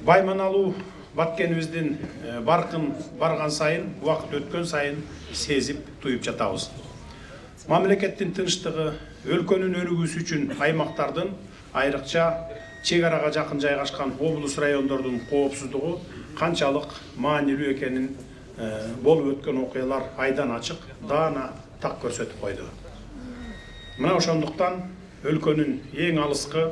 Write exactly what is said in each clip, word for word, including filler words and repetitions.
Байманалуу Баткенибиздин баркын барган сайын, убакыт өткөн сайын сезип, туюп жатабыз. Мамлекеттин тынчтыгы, өлкөнүн өнүгүүсү үчүн аймактардын, айрыкча чек арага жакын жайгашкан облус райондордун коопсуздугу канчалык маанилүү экенин болуп өткөн окуялар айдан ачык, даана так көрсөтүп койду. Мына ошондуктан өлкөнүн эң алыскы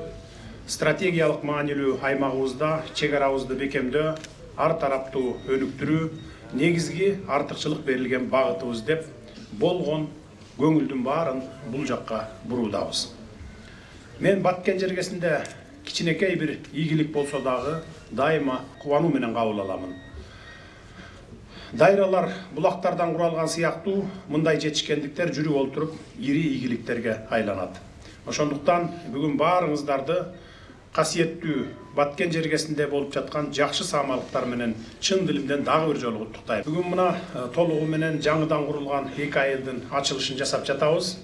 стратегиялык маанилүү аймагыбызда чек арабызды бекемдөө, ар тараптуу өнүктүрүү негизги артыкчылык берилген багытыбыз деп болгон көңүлдүн баарын бул жакка буруудабыз. Мен Баткен жергесинде кичинекей бир ийгилик болсо дагы дайыма кубануу менен кабыл аламын. Дайралар булактардан куралган сыяктуу мындай жетишкендиктер жүрүп олтуруп ири ийгиликтерге айланат. Ошондуктан бүгүн баарыңыздарды касиеттүү Баткен жергесинде болуп жаткан жакшы саамалыктар менен чын дилимден дагы бир жолу куттуктайм. Бүгүн мына толугу менен жаңыдан курулган эки айылдын ачылышын жасап жатабыз.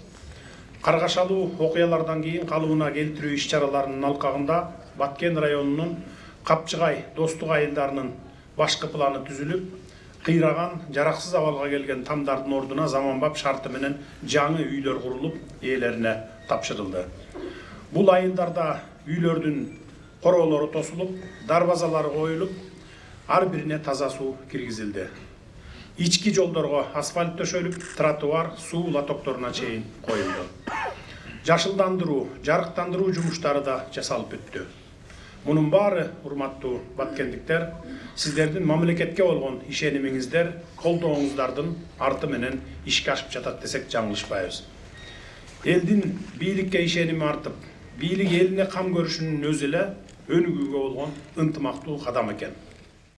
Каргашалуу окуялардан кийин калыбына келтирүү иш-чараларынын алкагында Баткен районунун Капчыгай достук айылдарынын башкы планы түзүлүп, кыйраган, жараксыз абалга келген тамдардын ордуна заманбап шарты менен жаңы үйлөр курулуп, ээлерине тапшырылды. Бул айылдарда үйлөрдүн короолору тосулуп, дарбазалары коюлуп, ар бирине таза суу киргизилди. Ички жолдорго асфальт төшөлүп, тротуар, суу лотокторуна чейин коюлду. Жашылдандыруу, жарыктандыруу жумуштары да жасалып бүттү. Мунун баары, урматтуу баткендиктер, сиздердин мамлекетке болгон ишенимиңиздер, колдооңуздардын арты менен ишке ашып жатат десек жаңылышпайбыз. Элдин бийликке ишеними артып, бийлик элине кам көрүшүнүн өзү эле өнүгүүгө болгон ынтымактуу кадам экен.